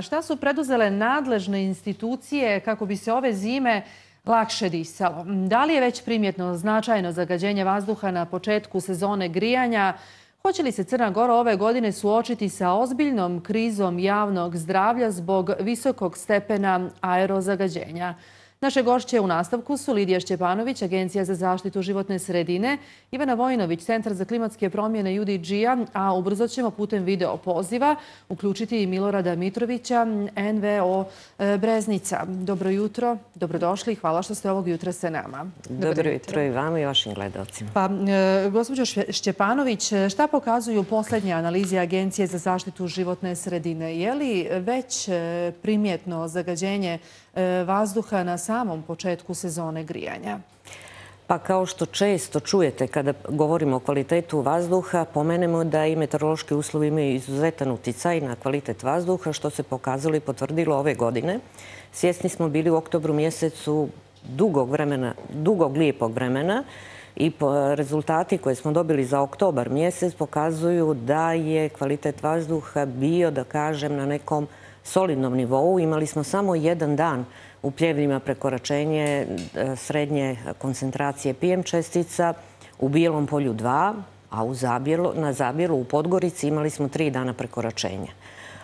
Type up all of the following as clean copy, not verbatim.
Šta su preduzele nadležne institucije kako bi se ove zime lakše disalo? Da li je već primjetno značajno zagađenje vazduha na početku sezone grijanja? Hoće li se Crna Gora ove godine suočiti sa ozbiljnom krizom javnog zdravlja zbog visokog stepena aerozagađenja? Naše gošće u nastavku su Lidija Šćepanović, Agencija za zaštitu životne sredine, Ivana Vojinović, Centar za klimatske promjene UDG-a, a ubrzo ćemo putem video poziva uključiti i Milorada Mitrovića, NVO Breznica. Dobro jutro, dobrodošli i hvala što ste ovog jutra sa nama. Dobro jutro i vama i vašim gledalcima. Pa, gospođo Šćepanović, šta pokazuju posljednje analize Agencije za zaštitu životne sredine? Je li već primjetno zagađenje vazduha na samom početku sezone grijanja? Pa kao što često čujete kada govorimo o kvalitetu vazduha, pomenemo da i meteorološki uslovi imaju izuzetan uticaj na kvalitet vazduha, što se pokazalo i potvrdilo ove godine. Svjesni smo bili u oktobru mjesecu dugog lijepog vremena i rezultati koje smo dobili za oktobar mjesec pokazuju da je kvalitet vazduha bio, da kažem, na nekom solidnom nivou. Imali smo samo jedan dan u Pljevljima prekoračenje srednje koncentracije PM čestica, u Bijelom polju 2, a na Zabjelu u Podgorici imali smo 3 dana prekoračenja.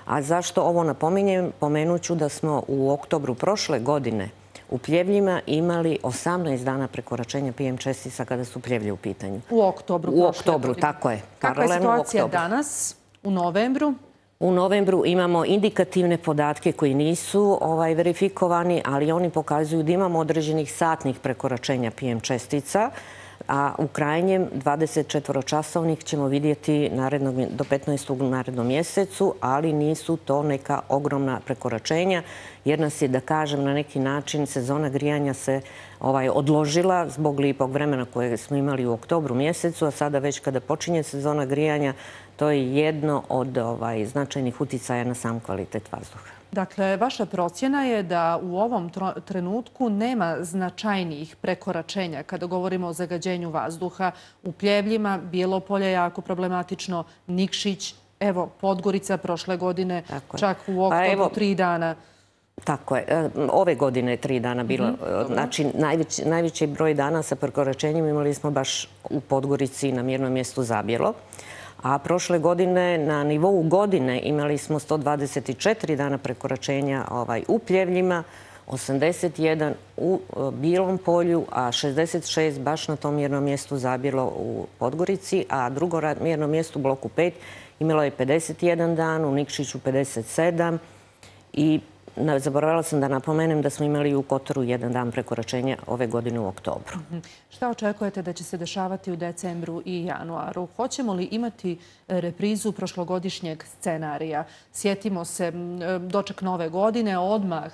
A zašto ovo napominjem? Pomenut ću da smo u oktobru prošle godine u Pljevljima imali 18 dana prekoračenja PM čestica kada su Pljevlje u pitanju. U oktobru prošle godine? U oktobru, tako je. Kakva je situacija danas, u novembru? U novembru imamo indikativne podatke koji nisu verifikovani, ali oni pokazuju da imamo određenih satnih prekoračenja PM čestica, a u krajnjem 24-časovnih ćemo vidjeti do 15. u narednom mjesecu, ali nisu to neka ogromna prekoračenja, jer nas je, da kažem, na neki način sezona grijanja se odložila zbog lijepog vremena koje smo imali u oktobru mjesecu, a sada već kada počinje sezona grijanja, to je jedno od značajnih uticaja na sam kvalitet vazduha. Dakle, vaša procjena je da u ovom trenutku nema značajnijih prekoračenja kada govorimo o zagađenju vazduha u Pljevljima, Bijelo je jako problematično, Nikšić, evo, Podgorica prošle godine, čak u oktobru 3 dana. Tako je. Ove godine je 3 dana bilo. Znači, najveći broj dana sa prekoračenjem imali smo baš u Podgorici na mjernom mjestu Zabjelo. A prošle godine na nivou godine imali smo 124 dana prekoračenja u Pljevljima, 81 u Bijelom polju, a 66 baš na tom mjernom mjestu Zabjelo u Podgorici, a drugo mjerno mjesto u bloku 5 imalo je 51 dan, u Nikšiću 57 i zaboravila sam da napomenem da smo imali u Kotoru 1 dan prekoračenja ove godine u oktobru. Šta očekujete da će se dešavati u decembru i januaru? Hoćemo li imati reprizu prošlogodišnjeg scenarija? Sjetimo se, doček nove godine, odmah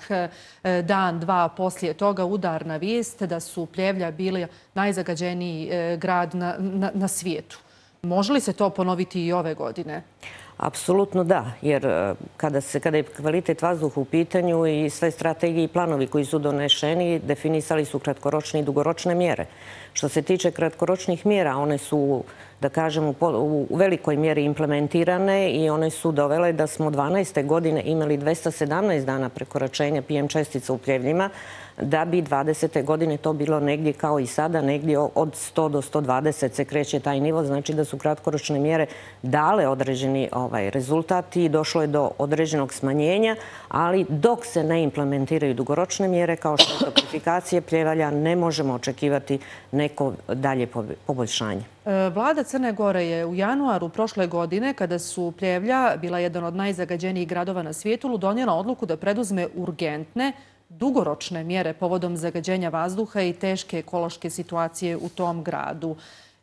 dan, dva poslije toga udarna vijest da su Pljevlja bili najzagađeniji grad na svijetu. Može li se to ponoviti i ove godine? Apsolutno da, jer kada je kvalitet vazduha u pitanju i sve strategije i planovi koji su donešeni, definisali su kratkoročne i dugoročne mjere. Što se tiče kratkoročnih mjera, one su, da kažem, u velikoj mjeri implementirane i one su dovele da smo 2012. godine imali 217 dana prekoračenja PM čestica u Pljevljima, da bi 2020. godine to bilo negdje kao i sada, negdje od 100 do 120 se kreće taj nivo. Znači da su kratkoročne mjere dale određeni rezultat i došlo je do određenog smanjenja, ali dok se ne implementiraju dugoročne mjere kao što je toplifikacije Pljevalja, ne možemo očekivati neko dalje poboljšanje. Vlada Crne Gore je u januaru prošle godine, kada su Pljevlja bila jedan od najzagađenijih gradova na svijetu, donijela odluku da preduzme urgentne dugoročne mjere povodom zagađenja vazduha i teške ekološke situacije u tom gradu.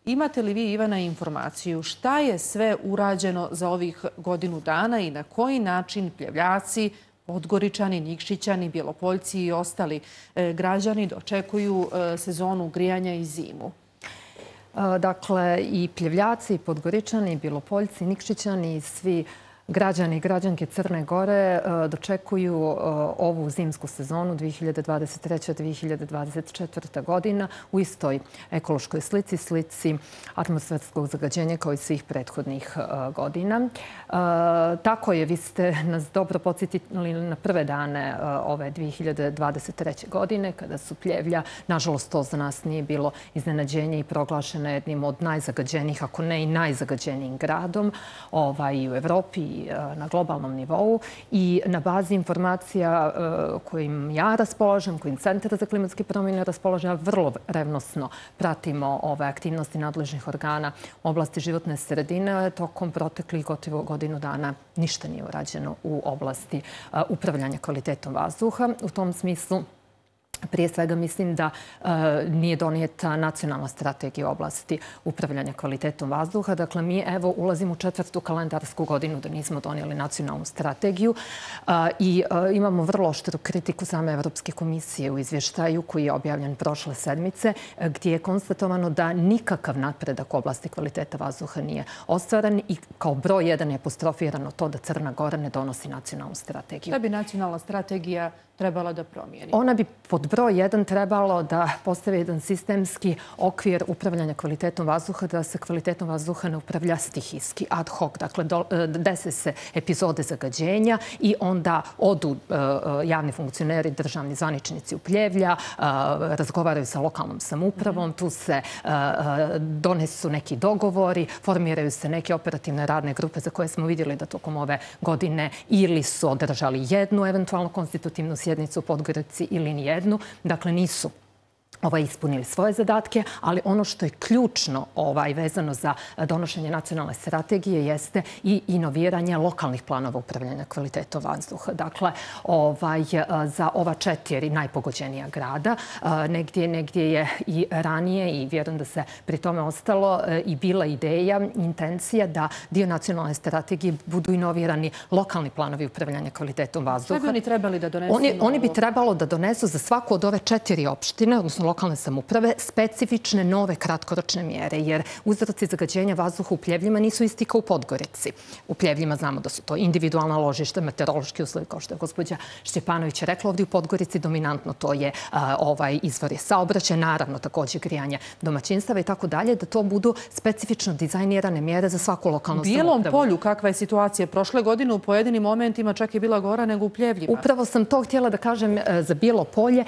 Imate li vi, Ivana, informaciju šta je sve urađeno za ovih godinu dana i na koji način Pljevljaci, Podgoričani, Nikšićani, Bjelopoljci i ostali građani dočekuju sezonu grijanja i zimu? Dakle, i Pljevljaci, i Podgoričani, i Bjelopoljci, i Nikšićani i svi Građani i građanke Crne Gore dočekuju ovu zimsku sezonu 2023-2024. godina u istoj ekološkoj slici atmosferskog zagađenja kao i svih prethodnih godina. Tako je, vi ste nas dobro podsjetili na prve dane ove 2023. godine kada su Pljevlja, nažalost to za nas nije bilo iznenađenje i proglašena jednim od najzagađenijih, ako ne i najzagađenijim gradom i u Evropi na globalnom nivou i na bazi informacija kojim ja raspolažem, kojim Centar za klimatske promjene raspolaže, ja vrlo revnosno pratimo ove aktivnosti nadležnih organa u oblasti životne sredine. Tokom proteklih gotovo godinu dana ništa nije urađeno u oblasti upravljanja kvalitetom vazduha. U tom smislu prije svega mislim da nije donijeta nacionalna strategija u oblasti upravljanja kvalitetom vazduha. Dakle, mi evo ulazimo u 4. kalendarsku godinu da nismo donijeli nacionalnu strategiju i imamo vrlo oštru kritiku same Evropske komisije u izvještaju koji je objavljen prošle sedmice gdje je konstatovano da nikakav napredak u oblasti kvaliteta vazduha nije ostvaren i kao broj 1 je apostrofirano to da Crna Gora ne donosi nacionalnu strategiju. Šta bi nacionalna strategija trebala da promijeni? Ona bi pod broj 1 trebalo da postavi jedan sistemski okvir upravljanja kvalitetom vazduha, da se kvalitetom vazduha ne upravlja stihijski, ad hoc. Dakle, dese se epizode zagađenja i onda odu javni funkcioneri, državni zvaničnici u Pljevlja, razgovaraju sa lokalnom samoupravom, tu se donesu neki dogovori, formiraju se neke operativne radne grupe za koje smo vidjeli da tokom ove godine ili su održali jednu eventualno konstitutivnu sjednicu u Podgorici ili nijednu. Dakle, nisu ispunili svoje zadatke, ali ono što je ključno vezano za donošenje nacionalne strategije jeste i inoviranje lokalnih planova upravljanja kvalitetom vazduha. Dakle, za ova 4 najpogođenija grada, negdje je i ranije i vjerujem da se pri tome ostalo i bila ideja, intencija da dio nacionalne strategije budu inovirani lokalni planovi upravljanja kvalitetom vazduha. Šta bi oni trebali da donesu? Oni bi trebalo da donesu za svaku od ove 4 opštine, odnosno lokalne samouprave, specifične nove kratkoročne mjere, jer uzroci zagađenja vazduha u Pljevljima nisu isti kao u Podgorici. U Pljevljima znamo da su to individualna ložišta, meteorološki uslovi, kao što je gospođa Šćepanović rekla. Ovdje u Podgorici dominantno to je izvor saobraćaja, naravno također grijanje domaćinstava i tako dalje, da to budu specifično dizajnirane mjere za svaku lokalnu samoupravu. U Bijelom Polju kakva je situacija? Prošle godine u pojedinim momentima čak je bila gora nego u Pljevljima. Upravo sam to htjela da kažem za Bijelo Polje.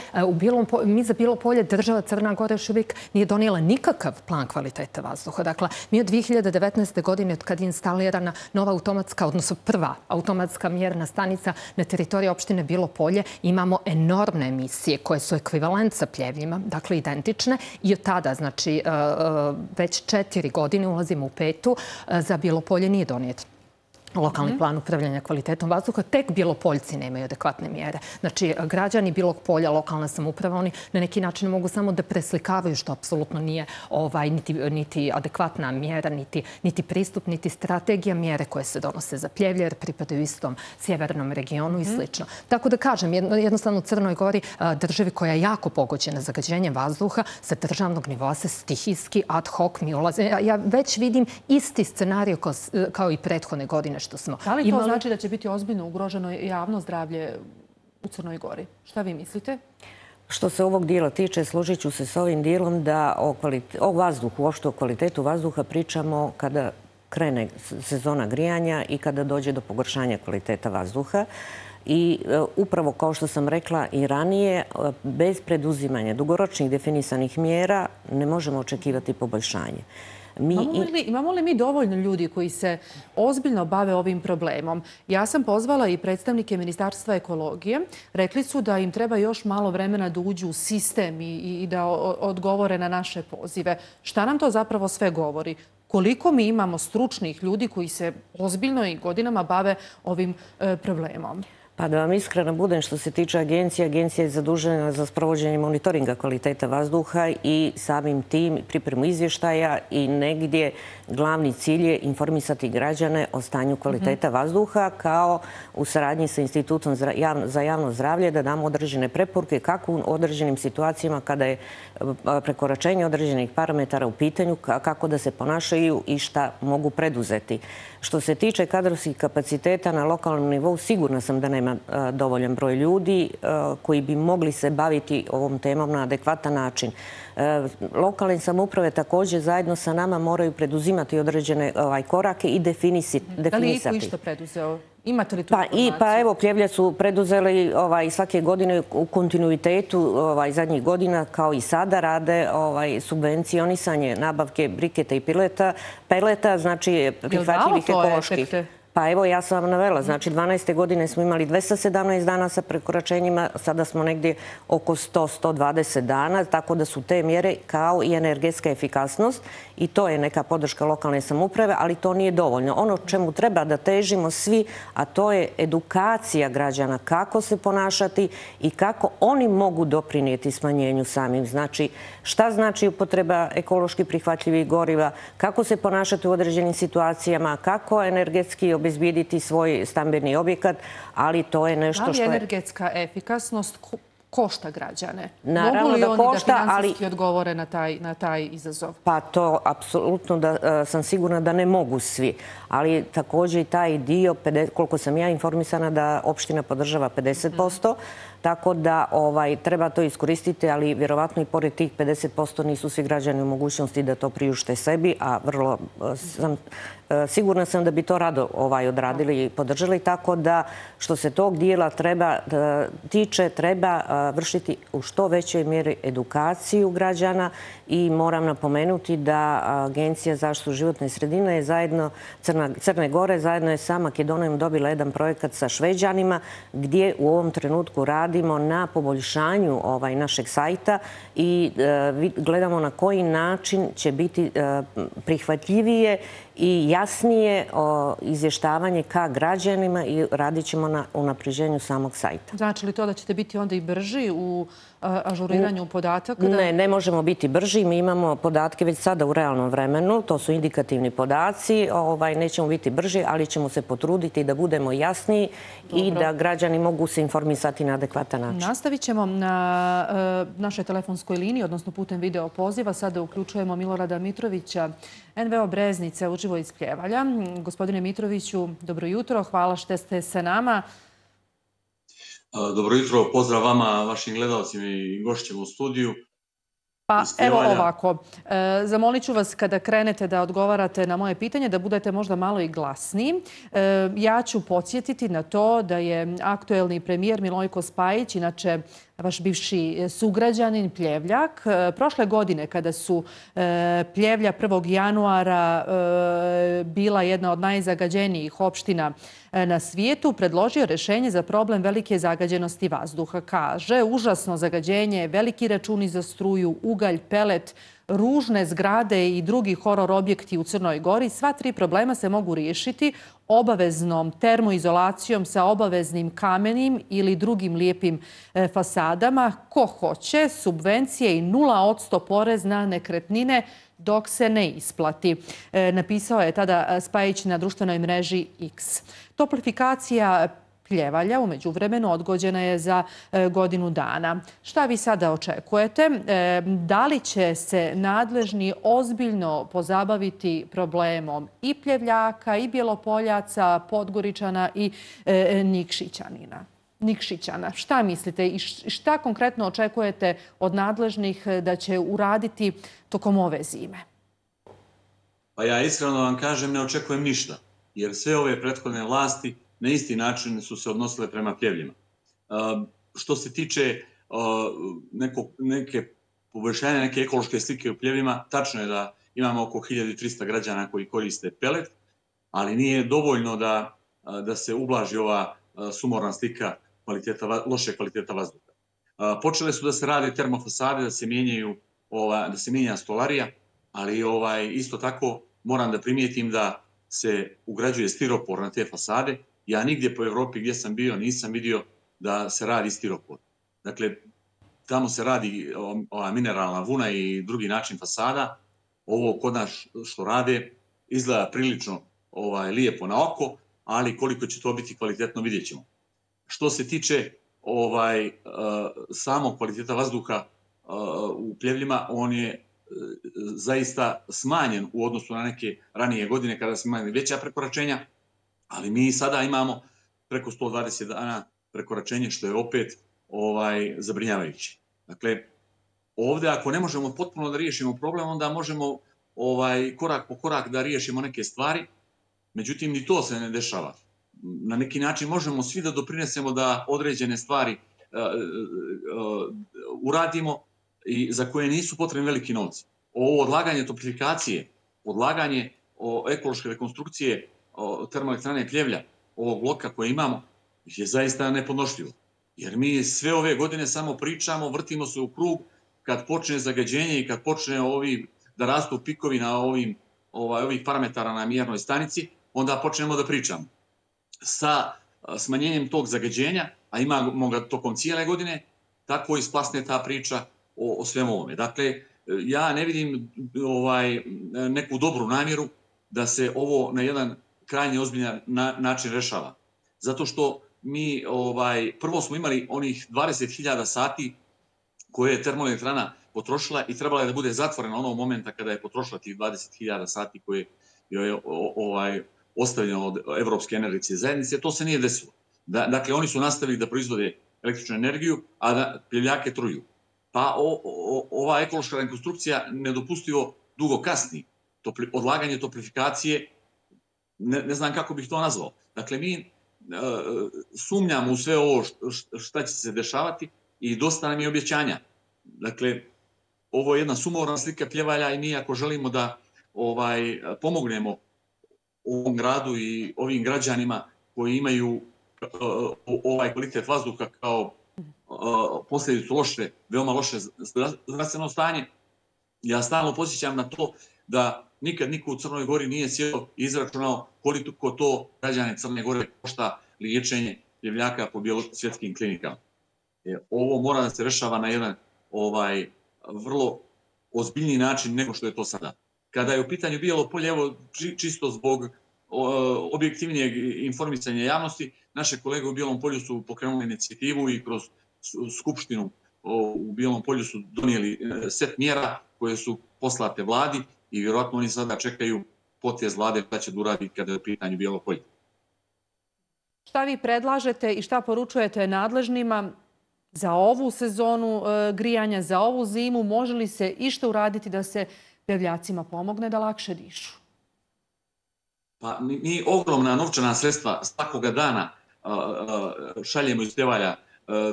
Mi za Bijelo Polje država Crna Gora još uvijek nije donijela nikakav plan kvaliteta vazduha. Dakle, mi od 2019. godine, od kad je instalirana nova automatska, odnosno prva automatska mjerna stanica na teritoriji opštine Bijelo Polje, imamo enormne emisije koje su ekvivalent sa Pljevljima, dakle identične. I od tada, znači, već 4 godine, ulazimo u 5. za Bijelo Polje nije donijet lokalni plan upravljanja kvalitetom vazduha. Tek Bjelopoljci nemaju adekvatne mjere. Znači, građani Bijelog Polja, lokalna samouprava, oni na neki način mogu samo da preslikavaju, što apsolutno nije niti adekvatna mjera, niti pristup, niti strategija mjere koje se donose za Pljevlje, jer pripadaju istom sjevernom regionu i slično. Tako da kažem, jednostavno u Crnoj Gori, državi koja je jako pogođena zagađenjem vazduha, sa državnog nivoa se stihijski, ad hoc mi ulaze. Ja već vidim isti scenarij kao i prethodne godine. Da li to znači da će biti ozbiljno ugroženo javno zdravlje u Crnoj Gori? Šta vi mislite? Što se ovog dijela tiče, složit ću se s ovim dijelom da o vazduhu, uopšte o kvalitetu vazduha pričamo kada krene sezona grijanja i kada dođe do pogoršanja kvaliteta vazduha. I upravo kao što sam rekla i ranije, bez preduzimanja dugoročnih definisanih mjera ne možemo očekivati poboljšanje. Imamo li mi dovoljno ljudi koji se ozbiljno bave ovim problemom? Ja sam pozvala i predstavnike Ministarstva ekologije. Rekli su da im treba još malo vremena da uđu u sistem i da odgovore na naše pozive. Šta nam to zapravo sve govori? Koliko mi imamo stručnih ljudi koji se ozbiljno i godinama bave ovim problemom? Pa da vam iskreno budem, što se tiče agencije, agencija je zadužena za sprovođenje monitoringa kvaliteta vazduha i samim tim pripremu izvještaja i negdje glavni cilj je informisati građane o stanju kvaliteta vazduha kao u saradnji sa Institutom za javno zdravlje da damo određene preporuke kako u određenim situacijama kada je prekoračenje određenih parametara u pitanju, kako da se ponašaju i šta mogu preduzeti. Što se tiče kadrovskih kapaciteta na lokalnom nivou, sigurna sam da nema dovoljan broj ljudi koji bi mogli se baviti ovom temom na adekvatan način. Lokalne samouprave također zajedno sa nama moraju preduzimati određene korake i definisati. Da li je iko išta preduzeo? Imate li tu informaciju? Pa evo, Pljevlja su preduzeli svake godine u kontinuitetu zadnjih godina, kao i sada, rade subvencionisanje nabavke briketa i peleta, znači prihvatljivih ekoloških. Pa evo, ja sam vam navela, znači 12. godine smo imali 217 dana sa prekoračenjima, sada smo negdje oko 100-120 dana, tako da su te mjere kao i energetska efikasnost i to je neka podrška lokalne samouprave, ali to nije dovoljno. Ono čemu treba da težimo svi, a to je edukacija građana, kako se ponašati i kako oni mogu doprinijeti smanjenju samim. Znači, šta znači upotreba ekološki prihvatljivih goriva, kako se ponašati u određenim situacijama, kako energetski obezbijediti svoj stambeni objekat, ali to je nešto što je... Da li energetska efikasnost košta građane? Naravno mogu li da oni košta, da finansijski odgovore na taj izazov? Pa to apsolutno sam sigurna da ne mogu svi. Ali također i taj dio, koliko sam ja informisana, da opština podržava 50%, tako da treba to iskoristiti, ali vjerovatno i pored tih 50% nisu svi građani u mogućnosti da to priušte sebi, a vrlo sigurna sam da bi to rado odradili i podržali, tako da što se tog dijela tiče, treba vršiti u što većoj mjeri edukaciju građana i moram napomenuti da Agencija za zaštitu životne sredine je zajedno, Crne Gore, zajedno je sa Makedonijom dobila jedan projekat sa Šveđanima gdje u ovom trenutku radimo na poboljšanju našeg sajta i gledamo na koji način će biti prihvatljivije i jasnije izvještavanje ka građanima i radit ćemo na unapređenju samog sajta. Znači li to da ćete biti onda i brži u ažuriranju podataka? Ne možemo biti brži. Mi imamo podatke već sada u realnom vremenu. To su indikativni podaci. Nećemo biti brži, ali ćemo se potruditi da budemo jasniji i da građani mogu se informisati na adekvatan način. Nastavit ćemo na našoj telefonskoj liniji, odnosno putem video poziva. Sada uključujemo Milorada Mitrovića, NVO Breznice, uživo iz Pljevalja. Gospodine Mitroviću, dobro jutro. Hvala što ste sa nama. Dobro jutro, pozdrav vama, vašim gledalcima i gošćima u studiju. Pa evo ovako, zamolit ću vas kada krenete da odgovarate na moje pitanje da budete možda malo i glasniji. Ja ću podsjetiti na to da je aktuelni premijer Milojko Spajić, inače vaš bivši sugrađanin Pljevljak, prošle godine kada su Pljevlja 1. januara bila jedna od najzagađenijih opština na svijetu, predložio rješenje za problem velike zagađenosti vazduha. Kaže, užasno zagađenje, veliki računi za struju, ugalj, pelet, ružne zgrade i drugi horor objekti u Crnoj Gori. Sva tri problema se mogu riješiti obaveznom termoizolacijom sa obaveznim kamenim ili drugim lijepim fasadama. Ko hoće, subvencije i 0% porez na nekretnine dok se ne isplati. Napisao je tada Spajić na društvenoj mreži X. Toplifikacija Pljevalja u međuvremenu odgođena je za godinu dana. Šta vi sada očekujete? Da li će se nadležni ozbiljno pozabaviti problemom i Pljevljaka, i Bjelopoljaca, Podgoričana i Nikšićana? Šta mislite i šta konkretno očekujete od nadležnih da će uraditi tokom ove zime? Pa ja iskreno vam kažem, ne očekujem ništa, jer sve ove prethodne vlasti na isti način su se odnosile prema Pljevljima. Što se tiče neke poboljšanja, neke ekološke slike u Pljevljima, tačno je da imamo oko 1300 građana koji koriste pelet, ali nije dovoljno da se ublaži ova sumorna slika loše kvaliteta vazduha. Počele su da se rade termofasade, da se mijenja stolarija, ali isto tako moram da primijetim da se ugrađuje stiropor na te fasade Ja nigdje po Evropi gdje sam bio nisam vidio da se radi stiropor. Dakle, tamo se radi ova mineralna vuna i drugi način fasada. Ovo kod nas što rade izgleda prilično lijepo na oko, ali koliko će to biti kvalitetno vidjet ćemo. Što se tiče samog kvaliteta vazduha u Pljevljima, on je zaista smanjen u odnosu na neke ranije godine kada smo imali veća prekoračenja, ali mi sada imamo preko 120 dana prekoračenje, što je opet zabrinjavajuće. Dakle, ovdje ako ne možemo potpuno da riješimo problem, onda možemo korak po korak da riješimo neke stvari, međutim ni to se ne dešava. Na neki način možemo svi da doprinesemo da određene stvari uradimo i za koje nisu potrebni veliki novci. Ovo odlaganje toplifikacije, odlaganje ekološke rekonstrukcije termoelektrane Pljevlja, ovog bloka koje imamo, je zaista nepodnošljivo. Jer mi sve ove godine samo pričamo, vrtimo se u krug, kad počne zagađenje i kad počne da rastu pikovi na ovih parametara na mjernoj stanici, onda počnemo da pričamo. Sa smanjenjem tog zagađenja, a imamo ga tokom cijele godine, tako isplasne ta priča o svemu ovome. Dakle, ja ne vidim neku dobru namjeru da se ovo na jedan krajnje ozbiljan način rešava. Zato što mi prvo smo imali onih 20.000 sati koje je termoelektrana potrošila i trebala je da bude zatvorena onog momenta kada je potrošila tih 20.000 sati koje je ostavljeno od Evropske energetske zajednice. To se nije desilo. Dakle, oni su nastavili da proizvode električnu energiju, a da Pljevljake truju. Pa ova ekološka rekonstrukcija nedopustivo dugo kasni. Odlaganje toplifikacije, ne znam kako bih to nazvao. Dakle, mi sumnjamo u sve ovo šta će se dešavati i dosta nam je objećanja. Dakle, ovo je jedna sumorna slika Pljevalja i mi ako želimo da pomognemo ovom gradu i ovim građanima koji imaju ovaj kvalitet vazduha kao posljedicu veoma loše zdravstveno stanje, ja stalno podsjećam na to da nikad niko u Crnoj Gori nije sjeo i izračunao koliko to građane Crne Gore košta liječenje Pljevljaka po svjetskim klinikama. Ovo mora da se rešava na jedan vrlo ozbiljniji način nego što je to sada. Kada je u pitanju Bijelo Polje, evo čisto zbog objektivnijeg informisanja javnosti, naše kolege u Bijelom Polju su pokrenuli inicijativu i kroz Skupštinu u Bijelom Polju su donijeli set mjera koje su poslate vladi i vjerojatno oni sada čekaju potez vlade šta će da uradi kada je u pitanju Bijelo Polje. Šta vi predlažete i šta poručujete nadležnima za ovu sezonu grijanja, za ovu zimu? Može li se išta uraditi da se Pljevljacima pomogne da lakše dišu? Pa mi ogromna novčana sredstva svakoga dana šaljemo iz Pljevalja.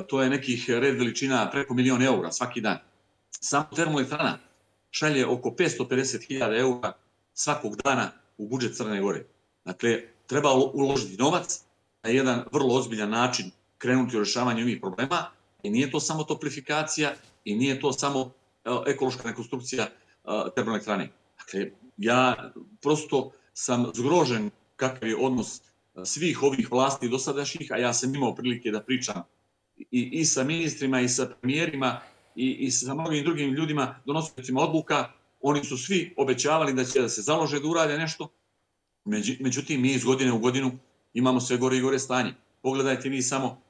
To je nekih red veličina preko 1.000.000 eura svaki dan. Samo termoelektrana šalje oko 550.000 eura svakog dana u budžet Crne Gore. Dakle, treba uložiti novac na jedan vrlo ozbiljan način, krenuti u rešavanje ovih problema i nije to samo toplifikacija i nije to samo ekološka rekonstrukcija termoelektrane. Dakle, ja prosto sam zgrožen kakav je odnos svih ovih vlasti dosadašnjih, a ja sam imao prilike da pričam i sa ministrima i sa premijerima i sa mnogim drugim ljudima, donositeljima odluka. Oni su svi obećavali da će da se založe da urade nešto, međutim mi iz godine u godinu imamo sve gore i gore stanje. Pogledajte vi samo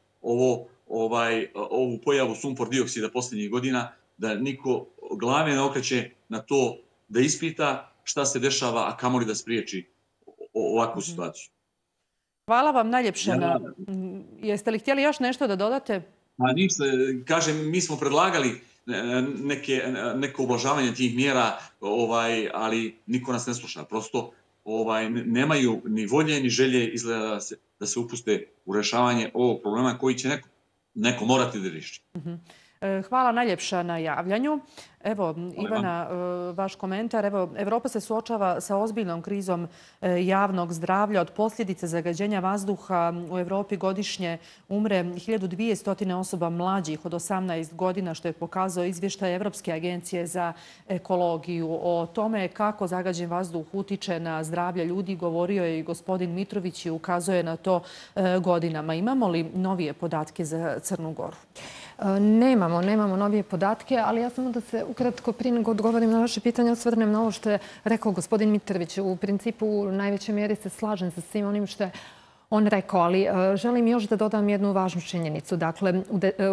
ovu pojavu sumpor dioksida posljednjih godina, da niko glave ne okreće na to da ispita šta se dešava, a kamoli da spriječi ovakvu situaciju. Hvala vam najljepše. Jeste li htjeli još nešto da dodate? Ništa, kažem, mi smo predlagali neko ublažavanje tih mjera, ali niko nas ne sluša. Prosto nemaju ni volje ni želje izgleda da se upuste u rešavanje ovog problema koji će neko morati da riješi. Hvala najljepša na javljanju. Evo, Ivana, vaš komentar. Evo, Evropa se suočava sa ozbiljnom krizom javnog zdravlja. Od posljedice zagađenja vazduha u Evropi godišnje umre 1200 osoba mlađih od 18 godina, što je pokazao izvještaj Evropske agencije za ekologiju. O tome kako zagađen vazduh utiče na zdravlje ljudi govorio je i gospodin Mitrović i ukazuje na to godinama. Imamo li novije podatke za Crnu Goru? Nemamo novije podatke, ali ja samo da se ukratko prije nego odgovorim na vaše pitanje osvrnem na ovo što je rekao gospodin Mitrović. U principu u najvećoj mjeri se slažem sa svim onim što je on rekao, ali želim još da dodam jednu važnu činjenicu. Dakle,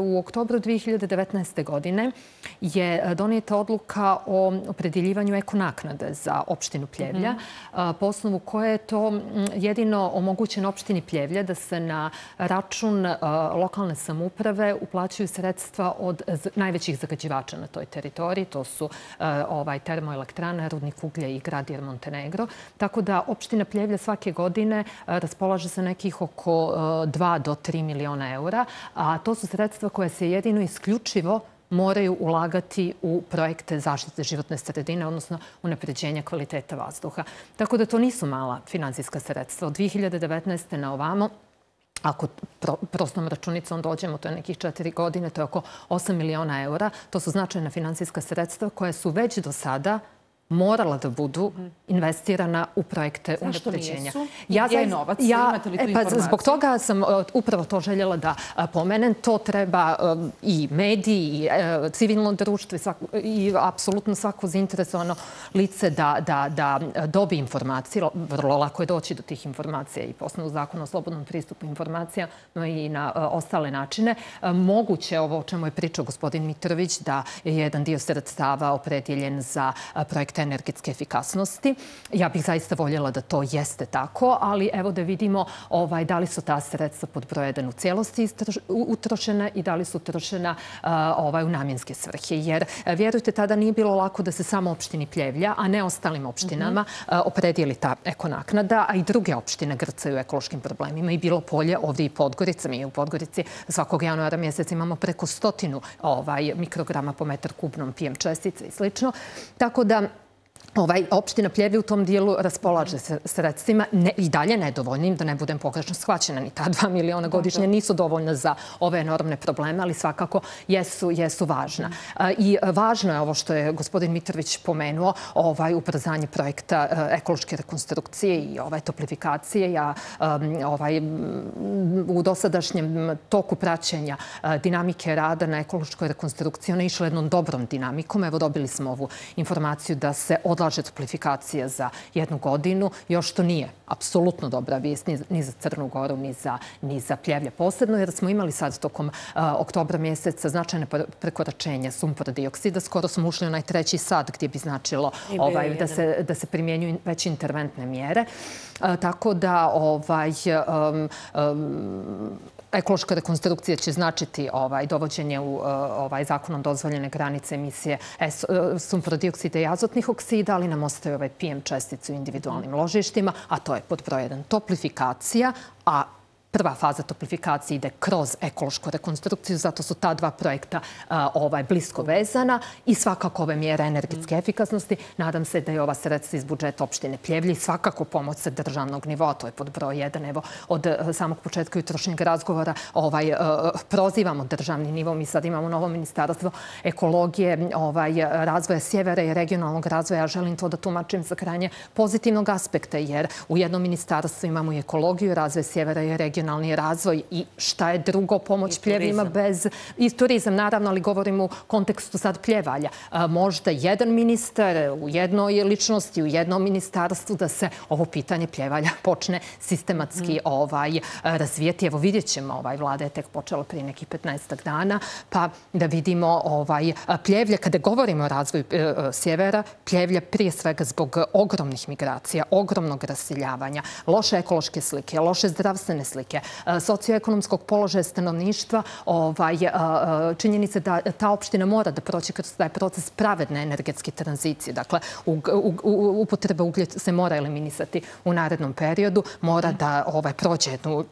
u oktobru 2019. godine je donijeta odluka o opredjeljivanju ekonaknade za opštinu Pljevlja, po osnovu koje je to jedino omogućeno opštini Pljevlja da se na račun lokalne samouprave uplaćuju sredstva od najvećih zagađivača na toj teritoriji. To su termoelektrana, rudnik uglja i grad Montenegro. Tako da opština Pljevlja svake godine raspolaže sa nekih oko 2 do 3 miliona eura, a to su sredstva koja se jedino isključivo moraju ulagati u projekte zaštite životne sredine, odnosno unapređenja kvaliteta vazduha. Tako da to nisu mala finansijska sredstva. Od 2019. na ovamo, ako prostom računicom dođemo, to je nekih 4 godine, to je oko 8 miliona eura. To su značajna finansijska sredstva koja su već do sada morala da budu investirana u projekte unapređenja. Zašto nisu? Gdje je novac? Imate li tu informaciju? Zbog toga sam upravo to željela da pomenem. To treba i mediji, i civilno društvo i apsolutno svako zainteresovano lice da dobije informacije. Vrlo lako je doći do tih informacija i po osnovu zakona o slobodnom pristupu informacijama i na ostale načine. Moguće ovo o čemu je pričao gospodin Mitrović, da je jedan dio sredstava opredjeljen za projekte energetske efikasnosti. Ja bih zaista voljela da to jeste tako, ali evo da vidimo da li su ta sredstva pod broj 1 u cijelosti utrošena i da li su utrošena u namjenske svrhe. Jer, vjerujte, tada nije bilo lako da se samo opštini Pljevlja, a ne ostalim opštinama opredijeli ta ekonaknada, a i druge opštine grcaju ekološkim problemima. I bilo polje ovdje i Podgorica. Mi u Podgorici svakog januara mjeseca imamo preko 100 mikrograma po metar kubnom PM čestice i slično. Tako da opština Pljevlja u tom dijelu raspolaže sredstvima i dalje nedovoljnim, da ne budem pogrešno shvaćena. Ni ta 2 miliona godišnje nisu dovoljna za ove enormne probleme, ali svakako jesu važna. I važno je ovo što je gospodin Mitrović pomenuo, ubrzanje projekta ekološke rekonstrukcije i toplifikacije. Ja u dosadašnjem toku praćenja dinamike rada na ekološkoj rekonstrukciji ona je išla jednom dobrom dinamikom. Evo, dobili smo ovu informaciju da se odlaže toplifikacija za 1 godinu. Još to nije apsolutno dobra vijest ni za Crnu Goru, ni za Pljevlje posebno, jer smo imali sad tokom oktobra mjeseca značajne prekoračenja sumpora dioksida. Skoro smo ušli u onaj 3. sat gdje bi značilo da se primjenjuju već interventne mjere. Tako da ekološka rekonstrukcija će značiti dovođenje u zakonom dozvoljene granice emisije sumporodioksida i azotnih oksida, ali nam ostaje PM čestice u individualnim ložištima, a to je pod broj 1 toplifikacija, a prva faza toplifikacije ide kroz ekološku rekonstrukciju, zato su ta dva projekta blisko vezana i svakako ove mjere energetske efikasnosti. Nadam se da je ova sredstva iz budžeta opštine Pljevlje i svakako pomoć sa državnog nivoa, to je pod broj 1. Evo, od samog početka jutrošnjeg razgovora prozivamo državni nivo. Mi sad imamo novo ministarstvo ekologije, razvoja sjevera i regionalnog razvoja. Ja želim to da tumačim sa krajnje pozitivnog aspekta, jer u jednom ministarstvu imamo i ekologiju, razvoj sjevera i regionalnog razvoj i šta je drugo pomoć Pljevljima bez... I turizam, naravno, ali govorim u kontekstu sad Pljevalja. Možda jedan ministar u jednoj ličnosti, u jednom ministarstvu da se ovo pitanje Pljevalja počne sistematski razvijeti. Evo vidjet ćemo, vlada je tek počela prije nekih 15 dana, pa da vidimo Pljevlja, kada govorimo o razvoju sjevera, Pljevlja prije svega zbog ogromnih migracija, ogromnog raseljavanja, loše ekološke slike, loše zdravstvene slike, socioekonomskog položaja stanovništva, činjenice da ta opština mora da proći kroz taj proces pravedne energetske tranzicije. Dakle, upotreba uglja se mora eliminisati u narednom periodu, mora da prođe jednu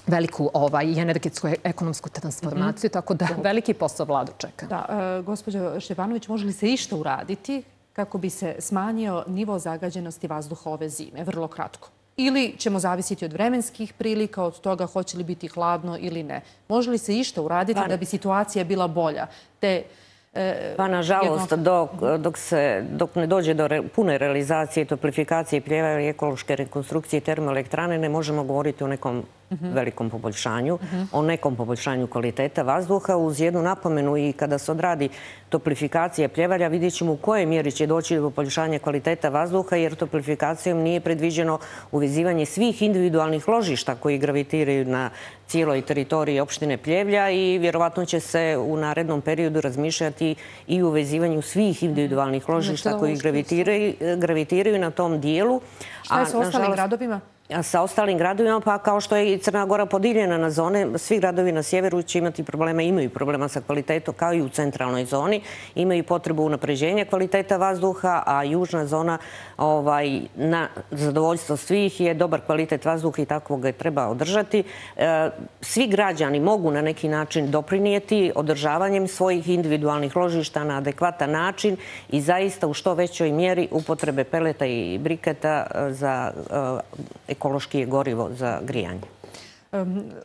veliku i energetsku ekonomsku transformaciju, tako da veliki posao vladu čeka. Da, gospođo Štefanović, može li se išta uraditi kako bi se smanjio nivo zagađenosti vazduha ove zime? Vrlo kratko. Ili ćemo zavisiti od vremenskih prilika, od toga hoće li biti hladno ili ne. Može li se išta uraditi da bi situacija bila bolja? Pa nažalost, dok ne dođe do pune realizacije, toplifikacije, pljeva i ekološke rekonstrukcije termoelektrane, ne možemo govoriti o nekom velikom poboljšanju, o nekom poboljšanju kvaliteta vazduha. Uz jednu napomenu, i kada se odradi toplifikacija pljevalja, vidjet ćemo u kojoj mjeri će doći do poboljšanja kvaliteta vazduha, jer toplifikacijom nije predviđeno uvezivanje svih individualnih ložišta koji gravitiraju na cijeloj teritoriji opštine Pljevlja i vjerovatno će se u narednom periodu razmišljati i u uvezivanju svih individualnih ložišta koji gravitiraju na tom dijelu. Šta je sa ostalim gradovima? Sa ostalim gradovima, pa kao što je i Crna Gora podijeljena na zone, svi gradovi na sjeveru će imati problema, imaju problema sa kvalitetom, kao i u centralnoj zoni. Imaju potrebu unapređenja kvaliteta vazduha, a južna zona na zadovoljstvo svih je dobar kvalitet vazduha i tako ga treba održati. Svi građani mogu na neki način doprinijeti održavanjem svojih individualnih ložišta na adekvatan način i zaista u što većoj mjeri upotrebe peleta i briketa za ekološki je gorivo za grijanje.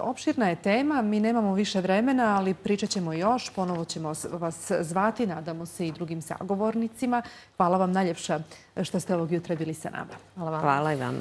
Opširna je tema, mi nemamo više vremena, ali pričat ćemo još, ponovo ćemo vas zvati, nadamo se i drugim sagovornicima. Hvala vam najljepša što ste ovog jutra bili sa nama. Hvala i vama.